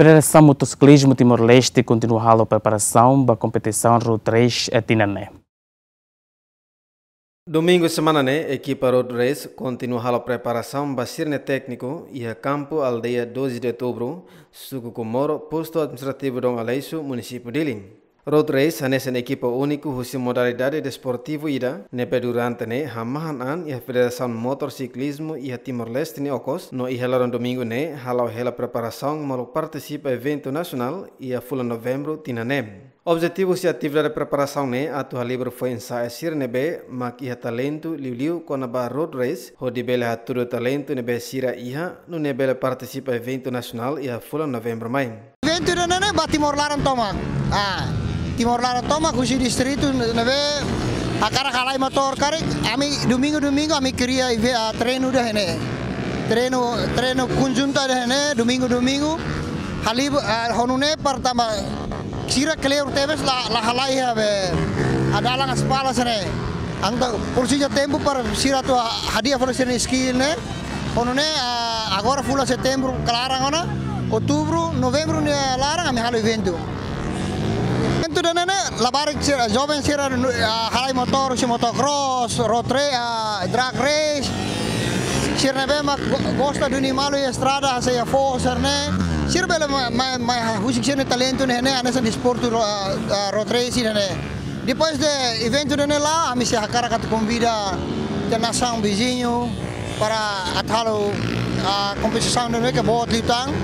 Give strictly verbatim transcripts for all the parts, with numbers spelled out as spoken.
Federasaun Motosiklismu Timor-Leste kontinua halo preparasaun ba kompetisaun Road Race tinan ne'e. Domingu semana ne'e, ekipa Road Race kontinua halo preparasaun ba sira-nia tékniku iha kampu aldeia doze de Outubro, suku Comoro, postu administrativu Dom Aleixo, munisípiu Dili. Road Race hanesan ekipa úniku husi modalidade desportivu ida ne'ebé durante ne'e hamahan an iha Federasaun Motosiklismu iha Timor-Leste nia okos, no iha loron domingu ne'e hala'o hela preparasaun molok partisipa eventu nasionál iha fulan Novembru tinan ne'e. Objetivu husi atividade preparasaun ne'e atu halibur foin-sa'e sira ne'ebé mak iha talentu liuliu kona-ba Road Race, hodi bele hatudu talentu ne'ebé sira iha, nune'e bele partisipa eventu nasionál iha fulan Novembru mai. Eventu ida-ne'e ne'e ba Timor laran tomak. Ah, Timor laran tomak husi distritu ne'ebé hakarak halai motór karik, ami domingu-domingu ami kria eve-, ah, treinu ida-ne'e. Treinu, treinu konjuntu ida-ne'e, domingu-domingu. Halibur, ah, ho nune'e pertama sira kleur tebes la, la halai iha be, ah, dalan aspal sira-ne'e. Entaun presiza tempu para sira atu hadi'a fali sira-nia skill ne'e. Ho nune'e, ah, agora fulan Setembru klaran ona, Outubru, Novembru nia laran ami halo eventu. Eventu ida-ne'e ne'e labarik sira, joven sira, ah, halai motór, husi motocross, road ra-, ah, drag race. Sira ne'ebé mak go-, gosta duni malu iha estrada, hanesan iha foho sira-ne'e. Sira bele mai, mai, mai husik sira-nia talentu ne'e, ne'e, hanesan desportu ro-, ah, ah, road race ne'e, ne'e. Depois de eventu ida-ne'e la'o, ami sei hakarak atu konvida iha nasaun viziñu para atu halo, ah, kompetisaun ida-ne'e ke boot liután.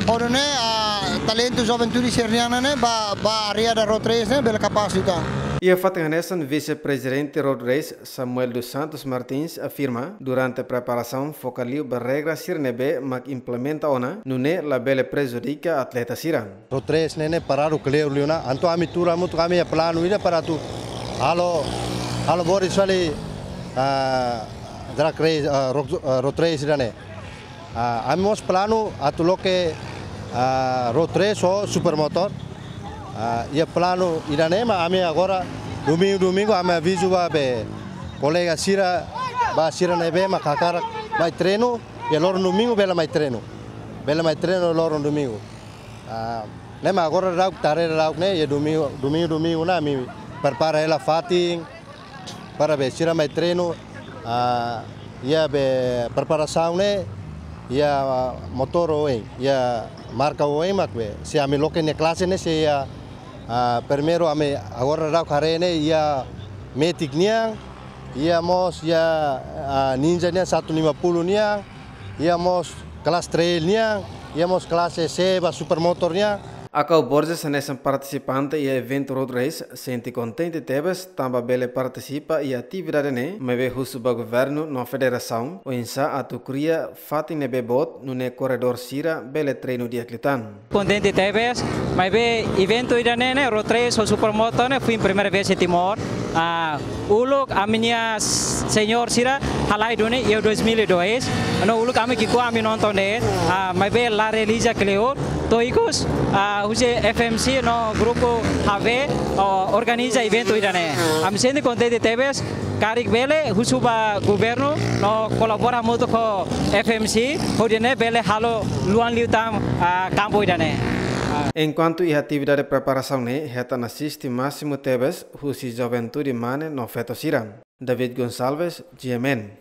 Ho nune'e, ah, talentu juventude sira-nian ne'e ba, ba área da road race ne'e bele kapás liután. Iha fatin hanesan, Vise-Prezidente Road Race, Samuel dos Santos Martins, afirma, durante preparasaun foka liu ba regra sira ne'ebé mak implementa ona, nune'e labele prejudika atleta sira. Road race ne'e ne'e paradu kleur liu ona, entaun ami tuur hamutuk ami iha planu ida para atu halo, halo boot fali, ah, drag race, ah, road, ah, road race ida-ne'e. Ah, ami mós planu atu loke, ah, road race ho supermotor. Ah, iha planu ida-ne'e mak ami agora domingu-domingu ami avizu ba be kolega sira, ba sira ne'ebé mak hakarak mai treinu, iha loron domingu bele mai treinu. Bele mai treinu loron domingu. Ah, ne'e mak agora daudaun, tarde daudaun ne'e, iha domingu, domingu, domingu ne'e ami prepara hela fatin para be sira mai treinu, ah, iha be preparasaun ne'e, iha motór oioin, iha marka oioin mak be. Se ami loke nia klase ne'e, se iha, ah, primeiru ami agora daudaun haree ne'e, iha Matic nian, iha mós iha, ah, Ninja nian satu lima puluh nian, iha mós klase trail nian, iha mós klase C ba supermotor nian. Akau Borges hanesan partisipante iha eventu road race sente kontente tebes tanba bele partisipa iha atividade ne'e, maibé husu ba governu no federasaun oinsá atu kria fatin ne'ebé boot nune'e korredór sira bele treinu di'ak liután. Kontente tebes, maibé eventu ida-ne'e ne'e, road race ho supermotor ne'e, foin primeira vez iha Timor. Ah, uluk ami-nia senior sira halai duni iha dois mil e dois. No uluk ami ki'ikoan ami nonton de'it. Ah, maibé la realiza kleur. To'o ikus, ah, husi F M C no grupu H V, oh, organiza eventu ida-ne'e. Ami sente kontente tebes, karik bele husu ba governu no kolabora hamutuk ho F M C, hodi nune'e bele halo luan liután, ah, kampu ida-ne'e. Ah. Enkuantu iha atividade preparasaun ne'e, hetan asiste másimu tebes husi juventude mane no feto sira. David Gonçalves, G M N.